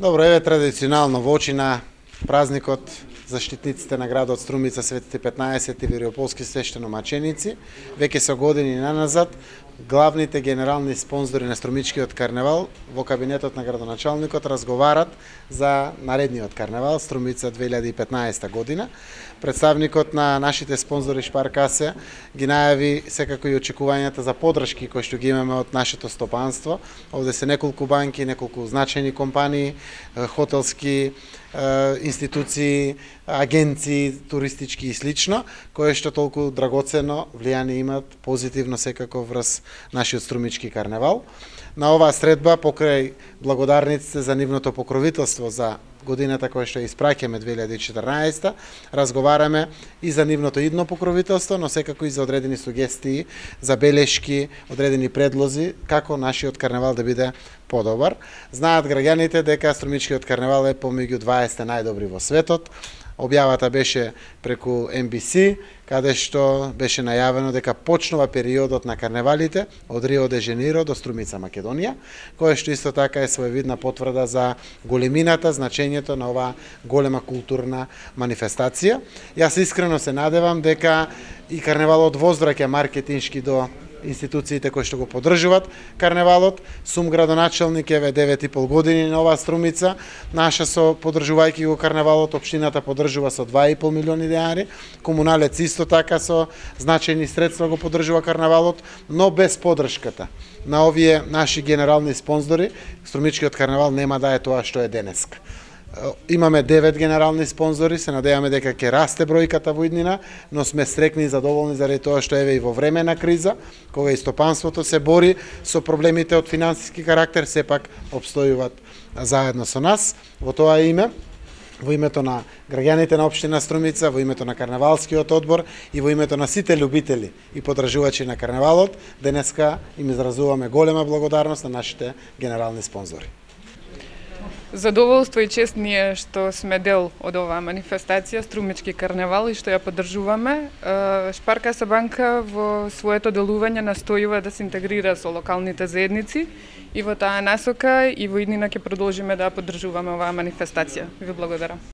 Добро, еве традиционално во очи на празникот заштитниците на градот Струмица, Светите 15 и Вириополски свештеномаченици, веќе со години наназад, главните генерални спонзори на Струмичкиот карневал во кабинетот на градоначалникот разговарат за наредниот карневал Струмица 2015 година. Представникот на нашите спонзори Шпаркасе ги најави секако и очекувањата за поддршки кои што ги имаме од нашето стопанство. Овде се неколку банки, неколку значајни компании, хотелски институции, агенции, туристички и слично, кои што толку драгоцено влијание имат позитивно секако врз нашиот Струмички карневал. На оваа средба, покрај благодарниците за нивното покровителство за годината која што испраќаме 2014, разговараме и за нивното идно покровителство, но секако и за одредени сугестии, забелешки, одредени предлози како нашиот карневал да биде подобар. Знаат граѓаните дека Струмичкиот карневал е помеѓу 20 најдобри во светот. Објавата беше преку NBC, каде што беше најавено дека почнува периодот на карневалите од Рио де Женеиро до Струмица, Македонија, која што исто така е своевидна потврда за големината, значењето на оваа голема културна манифестација. Јас искрено се надевам дека и карневалот возвраќа маркетиншки до институциите кои што го поддржуваат карневалот. Сум градоначалник еве 9,5 години на оваа Струмица. Наша со поддржувајќи го карневалот, општината поддржува со 2,5 милиони денари. Комуналец исто така со значајни средства го поддржува карневалот, но без поддршката на овие наши генерални спонзори, Струмичкиот карневал нема да е тоа што е денеска. Имаме 9 генерални спонзори, се надеваме дека ќе расте бројката во иднина, но сме стрекни и задоволни заради тоа што еве и во време на криза, кога и стопанството се бори со проблемите од финансиски карактер, сепак обстојуваат заедно со нас. Во тоа име, во името на граѓаните на општина Струмица, во името на карневалскиот одбор и во името на сите љубители и поддржувачи на карневалот, денеска им изразуваме голема благодарност на нашите генерални спонзори. Задоволство и чест ни е што сме дел од оваа манифестација Струмички карневал и што ја поддржуваме. Шпаркаса банка во своето делување настојува да се интегрира со локалните заедници и во таа насока и во иднина ќе продолжиме да ја поддржуваме оваа манифестација. Ви благодарам.